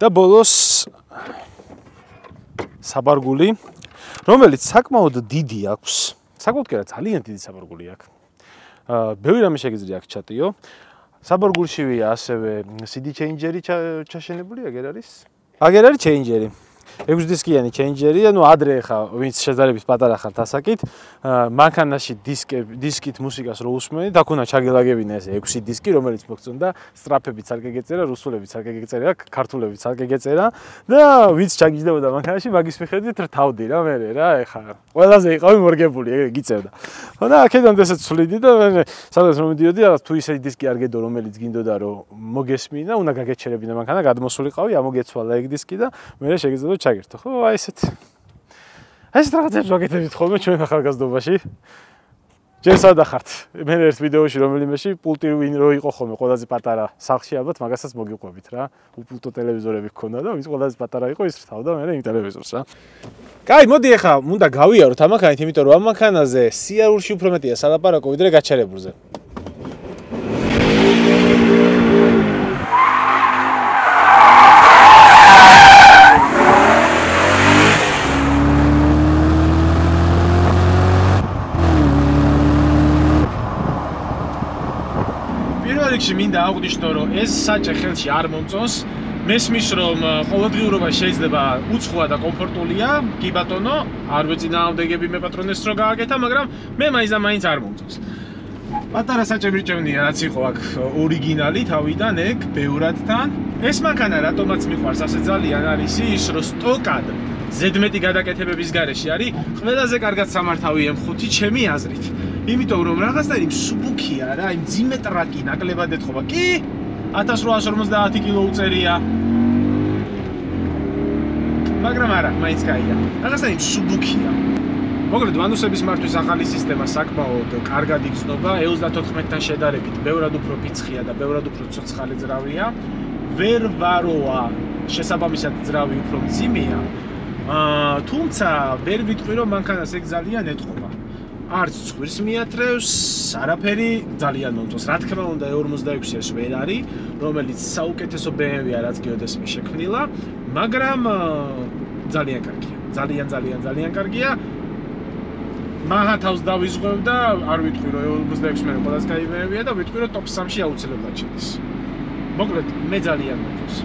და ბოლოს საბარგული, რომელიც საკმაოდ დიდი აქვს. საკმაოდ კი არა, ძალიან დიდი საბარგული აქვს. ბევრი რამე შეგიძლია აქ ჩატიო. საბარგულშივია ასევე CD changer-ი ჩაშენებული, აგერ არის? აგერ არის changer-ი. 6 დისკიანი changer-ი, ანუ ადრე ხა ვინც შედარებით პატარა ხართ ასაკით, მანქანაში დისკით მუსიკას რო უსმენთ, აქ უნდა ჩაგელაგებინა ეს 6 დისკი, რომელიც მოგწონდა, სტრაფებიც არ გეგეწერა, რუსულებიც არ გეგეწერა, ქართულებიც არ გეგეწერა და ვინც ჩაგიჯდებოდა მანქანაში, მაგის მიხედვით რთავდი რა მე რა, ეხა ყველაზე იყავი მორგებული, ეგრე გიწევდა. ხო და აქედან ესეც ვსვლიდი და მე სადაც რომ მიდიოდი, რაღაც თუ ისეთი დისკი არ გედო, რომელიც გინდოდა რომ მოგესმინა, უნდა გაგეჩერებინა მანქანა, გადმოსულიყავი, ამოგეცვალა ეგ დისკი და მე შეგეძლო ჩაგერთო. ხო, აი ესეთ. ეს რაღაცებს ვაკეთებთ ხოლმე ჩვენ ახალგაზრდობაში. ჯერ სადა ხართ? მე ერთ ვიდეოში რომელიმეში პულტი ვინ რო იყო ხოლმე ყველაზე პატარა სახლში ალბათ მაგასაც მოგიყვებით რა. უპულტო ტელევიზორები გქონდა და ვის ყველაზე პატარა იყო ის რთავდა მე იმ ტელევიზორს რა. კაი, მოდი ახლა უნდა გავიაროთ ამ მანქანით, იმიტომ რომ ამ მანქანაზე სიარულში უფრო მეტია სალაპარაკო ვიდრე გაჩერებულზე. რიგში მინდა აღვნიშნო, რომ ეს საჭე ხელში არ მომწონს. მესმის, რომ ყოველდღიურობა შეიძლება უცხოა და კომფორტულია, კი ბატონო, არ ვეწინააღმდეგები მე პატრონეს რო გააკეთა, მაგრამ მე მაინც არ მომწონს. პატარა საჭე მირჭევნია, რაც იყო აქ ორიგინალი თავიდან, ეგ ბევრად თან. ეს მანქანა რატომაც მიყვარს ასე ძალიან არის ის, რომ სტოკად ზედმეტი გადაკეთებების გარეშე არის ყველაზე კარგად სამართავი M5 ჩემი აზრით. იმიტომ რომ რაღაცნაირი მსუბუქია რა, იმ ძიმე ტრაკი ნაკლებად ეთხოვა. კი 1850 კილო უწერია. მაგრამ არა, მაინც კაია. რაღაცნაირი მსუბუქია. მოკლედ ვანუსების მართვის ახალი სისტემა საკმაოდ კარგად იგრძნობა, 34-დან შედარებით ბევრად უფრო ფიცხია და ბევრად უფრო ცოცხალი ძრავია. ვერ ვაროა, შესაბამისად ძრავი უფრო მძიმეა. თუმცა ვერ ვიტყვი რომ მანქანას ეგ ძალიან ეთხოვა. არც ცხვირს მიათრევს, არაფერი ძალიან მომწონს. რა თქმა უნდა, E46-ის ვერ არის, რომელიც საუკეთესო BMW-ა რაც გეოდესმის შექმნილა, მაგრამ ძალიან კარგია. ძალიან კარგია. მაღლა თავს დავიზღვევ და არ ვიტყვი რომ E46 მე ყველაზე კაი BMW-ა და ვიტყვი რომ ტოპ 3-ში აუცილებლად შედის. მოკლედ, მე ძალიან მომწონს.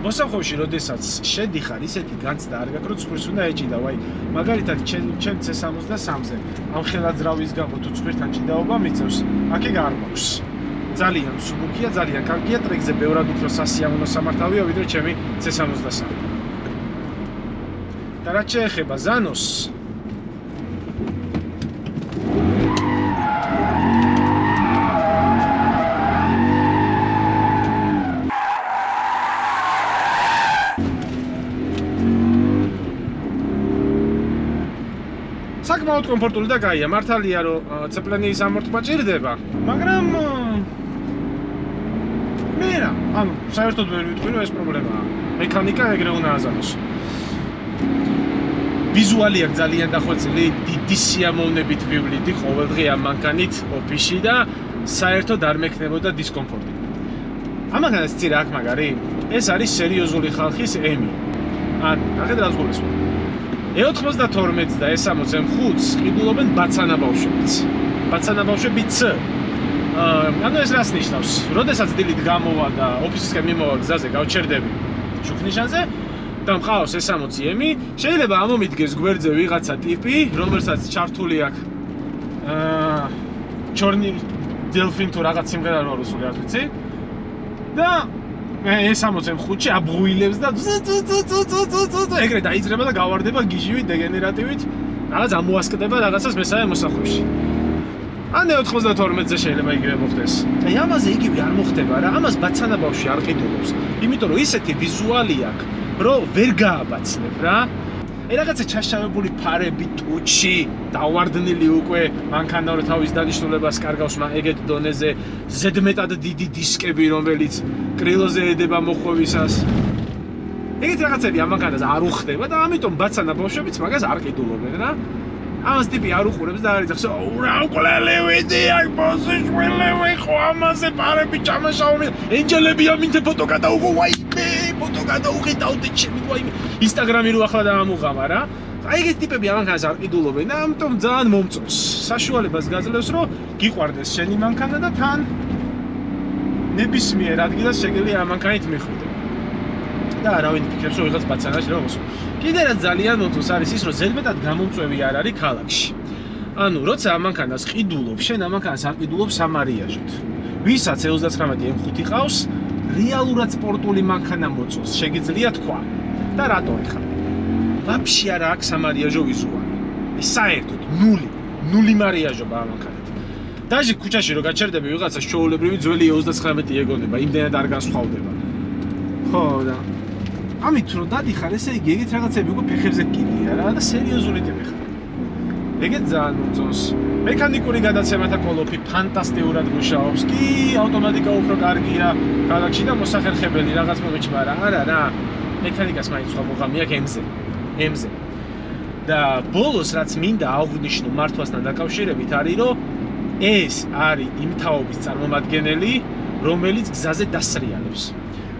მოსახოში, როდესაც შედიხარ, ისეთი განცდა არ გაქვს, რომ ცხვირს უნდა ეჭიდავ. აი, მაგალითად, ჩემ C63-ზე ამ ხელაძრავის გამო თუ ცხვირთან ჭიდაობა მიწევს, აქ ეგ არ მაქვს. ძალიან მსუბუქია, ძალიან კარგია, ტრეკზე ბევრად უფრო სასიამოვნო სამართავია, ვიდრე ჩემი C63. და რაც შეეხება ზანოს, საკმაოდ კომფორტული და კაია. მართალია რომ ცეპლენის ამორთმა ჭირდება, მაგრამ მე რა, ანუ საერთოდ ვერ ვიტყვი რომ ეს პრობლემაა. მექანიკა ეგრე უნდა აზამოს. ვიზუალი აქვს ძალიან დახვეწილი, დიდი სიამოვნებით ვივლიდი ყოველდღე ამ მანქანით ოფისში და საერთოდ არ მექნებოდა დისკომფორტი. ამ მანქანას ცირა აქ მაგარი, ეს არის სერიოზული ხალხის ემი. ანუ ნახეთ რა ზღურესვა. E92 და E60 M5-ს ყიდულობენ ბაცანა ბავშვებიც. ბაცანა ბავშვები C. ანუ ეს რას ნიშნავს? როდესაც დილით გამოვა და ოფისისკენ მიმოვა გზაზე გავჩერდები შუქნიშანზე და მყავს E60-ი, შეიძლება ამომიდგეს გვერდზე ვიღაცა ტიპი, რომელსაც ჩართული აქვს ჩორნი დელფინ თუ რაღაც სიმღერა რო რუსული არ ვიცი. და E60 M5-ში აბღუილებს და ეგრე დაიძრება და გავარდება გიჟივით, დეგენერატივით, რაღაც ამოასკდება რაღაცას მესამე მოსახვეში. ან E92-ზე შეიძლება იგივე მოხდეს. აი ამაზე იგივე არ მოხდება რა, ამას ბაცანა ბავშვი არ ყიდულობს. იმიტომ რომ ისეთი ვიზუალი აქვს, რომ ვერ გააბაცნებ რა. რაღაცა ჩაშავებული ფარები, ტუჩი, დავარდნილი უკვე მანქანა რო თავის დანიშნულებას კარგავს ეგეთ დონეზე, ზედმეტად დიდი დისკები, რომელიც კრილოზე ედება მოხვევისას. ეგეთ რაღაცები ამ მანქანაზე არ უხდება და ამიტომ ბაცანა ბავშვებიც მაგას არ ყიდულობენ რა. ამას ტიპი არ უყურებს და არ იცის, რა უყლელი ვიდი, აი პოზიშვილი ხო ამაზე პარები ჩამაშავმი, ენჯელები ამინთე ფოტო გადაუღო, ვაი, ფოტო გადაუღიდავდი ჩემი, ვაი, ინსტაგრამი რო ახლა დაამუღამა რა. აი ეგეთ ტიპები ამანქანას არ ყიდულობენ და ამიტომ ძალიან მომწონს. საშუალებას გაძლევს, რომ გიყვარდეს შენი მანქანა და თან ნებისმიერ ადგილას შეგიძლია ამ მანქანით მიხვიდე. და არავინ ფიქრებს რომ ვიღაც ბაცანაში რა მოსულ. კიდე რაც ძალიან მომწონს არის ის, რომ ზედმეტად გამომწვევი არ არის ქალაქში. ანუ როცა ამ მანქანას ყიდულობ, შენ ამ მანქანას არ ყიდულობ სამარიაჟოდ. ვისაც E39 M5 ყავს, რეალურად სპორტული მანქანა მოწონს, შეგიძლია თქვა. და რატო ეხლა? ვაფშე არა აქვს სამარიაჟო ვიზუალი. ეს საერთოდ ნული მარიაჟობა ამ მანქანით. დაჟე ქუჩაში რო გაჩერდები ვიღაცას ჩვეულებრივი ძველი E39 ეგონება, იმდენად არ განსხვავდება. ხო და ამით რო დადიხარ, ესე იგი ეგეთ რაღაცები უკვე ფეხებზე კიდია რა და სერიოზული ტიპი ხარ. ეგეთ ძალიან მომწონს. მექანიკური გადაცემათა კოლოფი ფანტასტიკურად მუშაობს. კი, ავტომატიკა უფრო კარგია ქალაქში და მოსახერხებელი რაღაც მომეჩმა რა. არა რა. მექანიკას მაინც სხვა მოღამი აქვს M-ზე. და ბოლოს რაც მინდა აღვნიშნო მართვასთან დაკავშირებით არის, რომ ეს არის იმ თაობის წარმომადგენელი, რომელიც გზაზე დასრიალებს.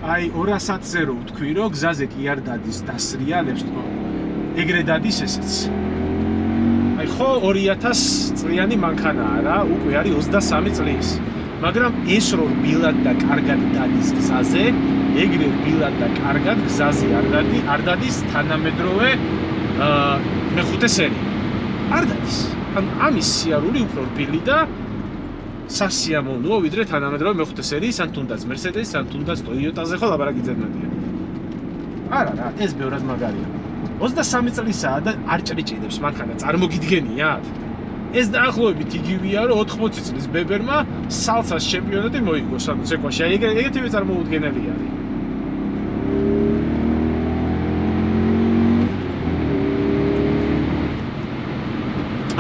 აი 200-ზე რო ვთქვი, რომ გზაზე კი არ დადის დასრიალებს თქო. ეგრე დადის ესეც. აი ხო 2000 წლიანი მანქანაა რა, უკვე არის 23 წლის. მაგრამ ეს რო რბილად და კარგად დადის გზაზე, ეგრე რბილად და კარგად გზაზე არ დადის თანამედროვე მეხუთე სერია. არ დადის. ან ამის სიარული უფრო რბილი და სასიამოვნოა ვიდრე თანამედროვე მეხუთე სერიის, ან თუნდაც Mercedes-ს, ან თუნდაც Toyota-ზე ხო ლაპარაკი ძებნადია. არა რა, ეს ბევრად მაგარია. 23 წლისაა და არ ჭრიჭინებს მანქანა, წარმოგიდგენიათ? ეს დაახლოებით იგივეა, რომ 80 წლის ბებერმა სალსას ჩემპიონატი მოიგოს, ანუ ცეკვაში. აი ეგეთივე წარმოუდგენელი არის.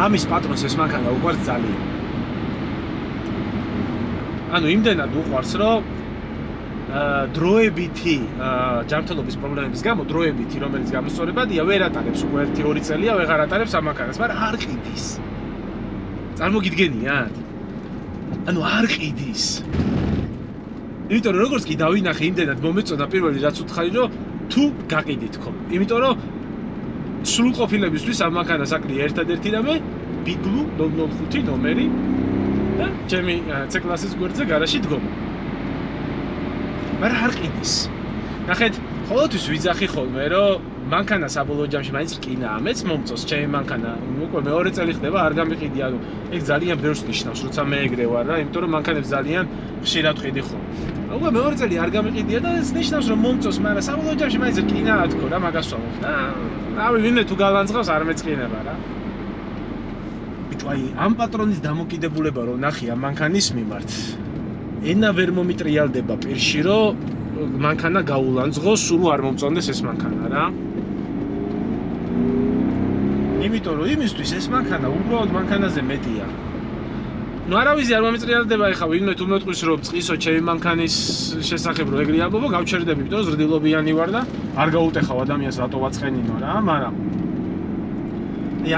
ამის პატრონს ეს მანქანა უყვარს ძალიან. ანუ იმდენად უყვარს, რომ დროებითი ჯანმრთელობის პრობლემების გამო დროებითი, რომელიც გამოსწორებადია, ვერ ატარებს უკვე 1-2 წელია, ვეღარ ატარებს ამ მანქანას, მაგრამ არ ყიდის. წარმოგიდგენიათ? ანუ არ ყიდის. იმიტომ რომ როგორც კი დავინახე, იმდენად მომეწონა პირველი რაც უთხარი, რომ თუ გაყიდით ხო. იმიტომ რომ სრულყოფილებისთვის ამ მანქანას აკლია ერთადერთი რამე ბიგლუ 005 ნომერი და ჩემი C-კლასის გვერდზე გარაჟში დგომა. მაგრამ არ ყიდის. ნახეთ, ყოველთვის ვიძახი ხოლმე, რომ მანქანა საბოლოო ჯამში მაინც რკინაა. მეც მომწონს ჩემი მანქანა. უკვე მეორე წელი ხდება, არ გამიყიდი, ანუ ეგ ძალიან ბევრს ნიშნავს, როცა მე ეგრე ვარ რა, იმიტომ რომ მანქანებს ძალიან ხშირად ვყიდი ხოლმე. უკვე მეორე წელი არ გამიყიდია და ეს ნიშნავს, რომ მომწონს, მაგრამ საბოლოო ჯამში მაინც რკინაა თქო რა, მაგას ვამბობ. რავი, ვინმე თუ გალანძღავს, არ მეწყინება რა. ბიჭო, აი, ამ პატრონის დამოკიდებულება რომ ნახი ამ მანქანის მიმართ. ენა ვერ მომიტრიალდება პირში, რომ მანქანა გაულანძღოს, სულ არ მომწონდეს ეს მანქანა რა. იმიტომ რომ იმისთვის ეს მანქანა უბრალოდ მანქანაზე მეტია. ნუ არავისი არ მომიტრიალდება ეხლა ვინმე თუ მეტყვის რომ წისო ჩემი მანქანის შესახებ რო ეგრე ამბობო, გავჩერდები, იმიტომ რომ ზრდილობიანი ვარ და არ გაუტეხავ ადამიანს რატო ვაწყენინო რა, მაგრამ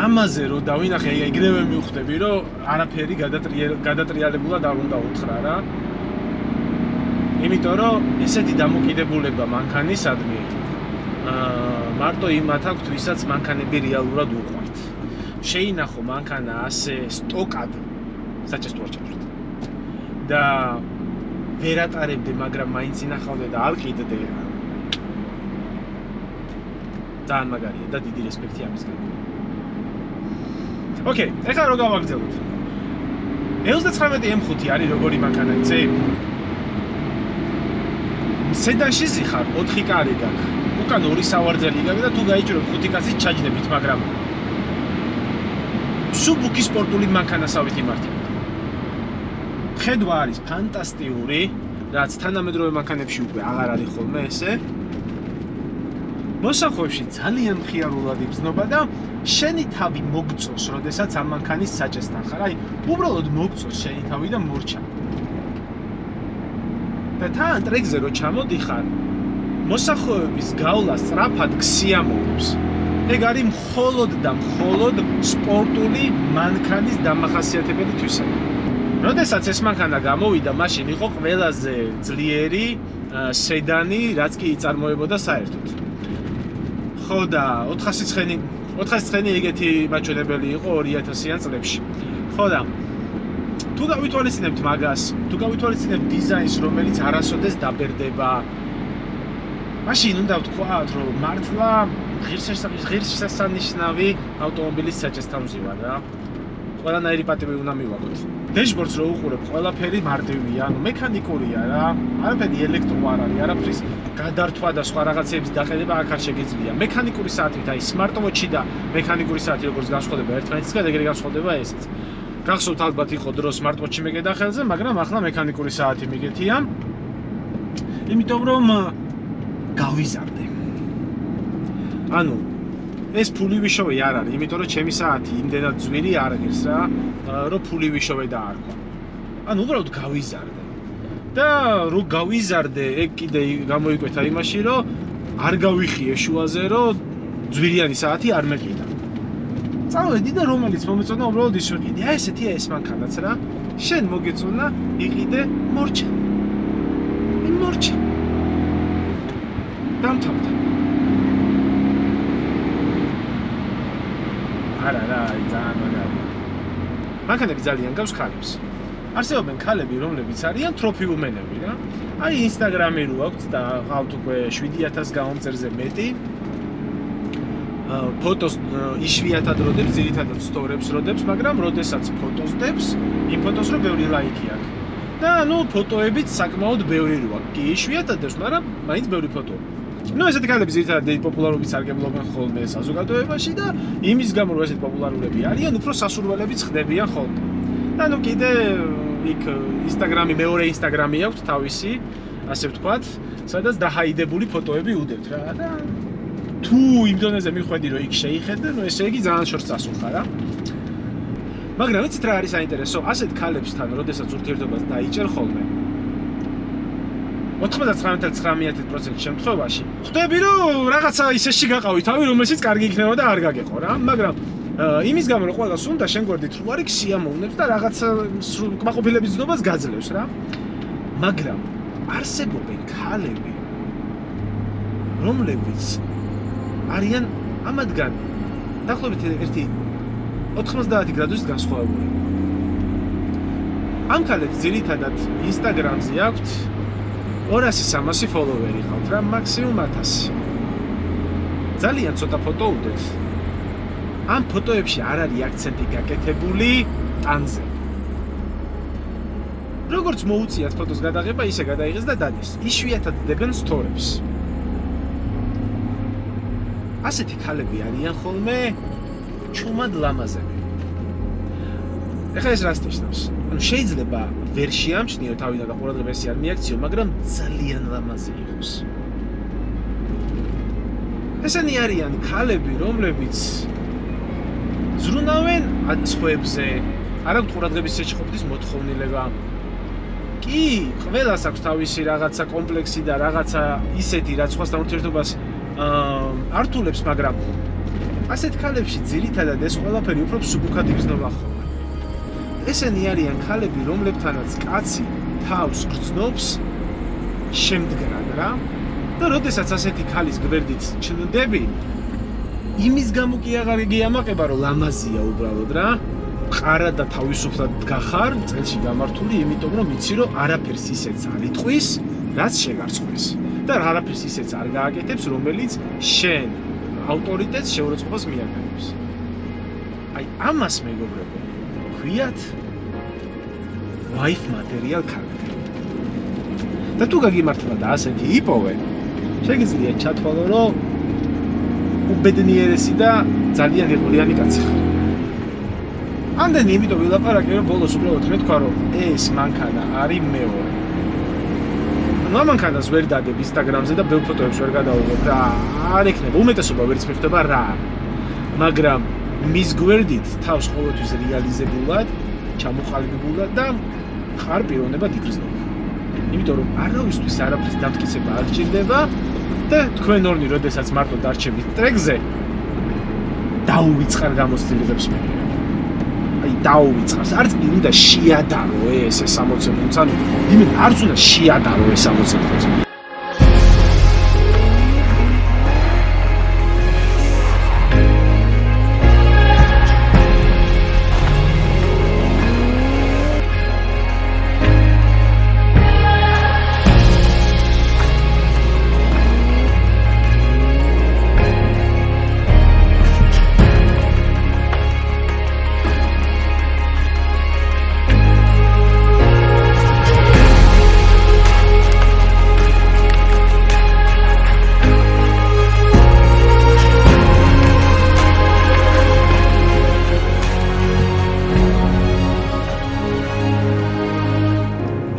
ამაზე რომ დავინახე, ეგრევე მივხვდები, რომ არაფერი გადატრიალებულად არ უნდა უთხრა რა. იმიტომ რომ ესეთი დამოკიდებულება მანქანისადმი მარტო იმათ აქვთ, ვისაც მანქანები რეალურად უყვართ. შეინახო მანქანა ასე სტოკად საჭესტო არ ჩავშოთ. და ვერ ატარებდე, მაგრამ მაინც ინახავდე და არ ყიდდე. ძალიან მაგარია და დიდი რესპექტი ამისგან. ოკეი, ეხლა რო გავაგრძელოთ. 39 M5 არის როგორი მანქანა, იცი? სედანში ზიხარ 4 კარი გაქვს. უკან 2 სავარძელი გაქვს და თუ გაიჭიროთ 5 კაცი ჩაჯდებით, მაგრამ სუბუქი სპორტული მანქანასავით იმართებთ. ხედვა არის ფანტასტიკური, რაც თანამედროვე მანქანებში უკვე აღარ არის ხოლმე ესე. მოსახვევში ძალიან მხიარულად იბრძნობა და შენი თავი მოგწოს, როდესაც ამ მანქანის საჭესთან ხარ. აი, უბრალოდ მოგწოს შენი თავი და მორჩა. და თან ტრეკზე რო ჩამოდიხარ, მოსახვევების გავლა სწრაფად გსიამოვნებს. ეგ არის მხოლოდ და მხოლოდ სპორტული მანქანის დამახასიათებელი თვისება. როდესაც ეს მანქანა გამოვიდა, მაშინ იყო ყველაზე ძლიერი სედანი, რაც კი იწარმოებოდა საერთოდ. ხო და 409 ეგეთი მაჩვენებელი იყო 2000-იან წლებში. ხო და თუ გავითვალისწინებთ მაგას, თუ გავითვალისწინებთ დიზაინს, რომელიც არასოდეს დაბერდება, მაშინ უნდა ვთქვათ, რომ მართლა ღირსშესანიშნავი ავტომობილის საჭესთან ვზივარ რა. ყველანაირი პატივი უნდა მივაგოთ. დეშბორდს რო უყურებ, ყველაფერი მარტივია, ანუ მექანიკურია რა. არაფერი ელექტრო არ არის, არაფრის გადართვა და სხვა რაღაცების დაყენება აქ არ შეგიძლია. მექანიკური საათით, აი smartwatch-ი და მექანიკური საათი როგორც განსხვავდება ერთმანეთისგან, ეგრე განსხვავდება ესეც. გახსოვთ ალბათ იყო დრო smartwatch-ი მეკედა ხელზე, მაგრამ ახლა მექანიკური საათი მიგეთია. იმიტომ რომ გავიზარდე. ანუ ეს ფული ვიშოვე არ არის, იმიტომ რომ ჩემი საათი იმდენად ძვირი არ ღირს რა, რომ ფული ვიშოვე და არ ყვა. ანუ უბრალოდ გავიზარდე. და რო გავიზარდე, ეგ კიდე გამოიკვეთა იმაში, რომ არ გავიხიე შუაზე, რომ ძვირიანი საათი არ მეყიდა. წავედი და რომელიც მომეწონა, უბრალოდ ის ვიყიდე. აი ესეთია ეს მანქანაც რა. შენ მოგეწონა, იყიდე, მორჩა. მორჩა. დამთავრდა. არა რა, ძალიან მაგარია. მანქანები ძალიან გავს ქალებს. არსებობენ ქალები, რომლებიც არიან თროფიუმენები რა. აი Instagram-ი რო აქვს და ყავთ უკვე 7000 გამომწერზე მეტი. ფოტოს იშვიათად როდებს, ძირითადად სტორებს როდებს, მაგრამ როდესაც ფოტოს დებს, იმ ფოტოს რო ბევრი ლაიქი აქვს. და ნუ ფოტოებიც საკმაოდ ბევრი როა. კი იშვიათად დებს, მაგრამ მაინც ბევრი ფოტოა. ნუ ესეთი ქალები ძირითადად დიდი პოპულარობით სარგებლობენ ხოლმე საზოგადოებაში და იმის გამო რომ ესეთი პოპულარულები არიან, უფრო სასურველებიც ხდებიან ხოლმე. და ნუ კიდე იქ Instagram-ი მეორე Instagram-ი აქვს თავისი, ასე ვთქვათ, სადაც დაჰაიდებული ფოტოები უდევთ რა და თუ იმ დონეზე მიხვედი რომ იქ შეიხედე, ნუ ესე იგი ძალიან შორს წასულხარ რა. მაგრამ იცით რა არის საინტერესო? ასეთ ქალებსთან, როდესაც ურთიერთობას დაიჭერ ხოლმე 99.9% შემთხვევაში ხვდები რომ რაღაცა ისეში გაყავი თავი, რომელშიც კარგი იქნება და არ გაგეყო რა, მაგრამ იმის გამო რომ ყველას უნდა შენ გვერდით რო არის სიამოვნებს და რაღაცა კმაყოფილების ზნობას გაძლევს რა. მაგრამ არსებობენ ქალები, რომლებიც არიან ამათგან დაახლოებით ერთი 90 გრადუსით განსხვავებული. ამ ქალებს ძირითადად Instagram-ზე აქვთ 200-300 ფოლოვერი ყავთ რა, მაქსიმუმ 1000. ძალიან ცოტა ფოტო უდევთ. ამ ფოტოებში არ არის აქცენტი გაკეთებული ტანზე. როგორც მოუწიათ ფოტოს გადაღება, ისე გადაიღეს და დადეს. იშვიათად დებენ სტორებს. ასეთი ქალები არიან ხოლმე ჩუმად ლამაზები. ეხლა ეს რას ნიშნავს? ანუ შეიძლება ვერ შეამჩნიო თავიდან და ყურადღება ესე არ მიაქციო, მაგრამ ძალიან ლამაზი იყოს. ესენი არიან ქალები, რომლებიც ზრუნავენ სხვებზე, არ აქვს ყურადღების შეჭრობის მოთხოვნილება. კი, ყველას აქვს თავისი რაღაცა კომპლექსი და რაღაცა ისეთი, რაც სხვასთან ურთიერთობას ართულებს, მაგრამ ასეთ ქალებში ძირითადად ეს ყველაფერი უფრო მსუბუქად იგრძნობა ხოლმე. ესენი არიან ქალები, რომლებთანაც კაცი თავს გრძნობს შემდგრად რა. და როდესაც ასეთი ქალის გვერდით ჩნდები, იმის გამო კი აღარ გიამაყება, რომ ლამაზია უბრალოდ რა. ყარა და თავისუფლად გახარ წელში გამართული, იმიტომ რომ იცი რომ არაფერს ისეც არ იტყვის, რაც შეგარწყვეს. და არაფერს ისეც არ გააკეთებს, რომელიც შენ ავტორიტეტს შეურაცხყოფას მიაგნებს. აი ამას მეგობრებო, ქვიათ wife material ქალები. და თუ გაგიმართლა და ასეთი იპოვე, შეგიძლია ჩათვალო, რომ უბედნიერესი და ძალიან ღირღლიანი კაცი ხარ. ამდენი იმიტომ ვილაპარაკე, რომ ბოლოს უბრალოდ მეთქვა, რომ ეს მანქანა არის მეორე. ამ მანქანას ვერ დადებ Instagram-ზე და ბევრ ფოტოებს ვერ გადავიღებ და არ ექნება, უმეტესობა ვერც მიხვდება რა. მაგრამ მის გვერდით თავს ყოველთვის რეალიზებულად, ჩამოყალიბებულად და ხარ პიროვნებად იგრძნობა. იმიტომ რომ არავისთვის არაფრის დამტკიცება არ გჭირდება და თქვენ ორნი როდესაც მარტო დარჩებით ტრეკზე დაუვიწყარ გამოცდილებებს მე. აი დაუვიწყარს, არც კი უნდა შეადარო ეს 60%, ანუ იმენ არც უნდა შეადარო ეს 60%.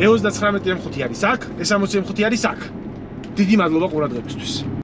E 39 M5 არის აქ, E 60 M5 არის აქ. დიდი მადლობა ყურადღებისთვის.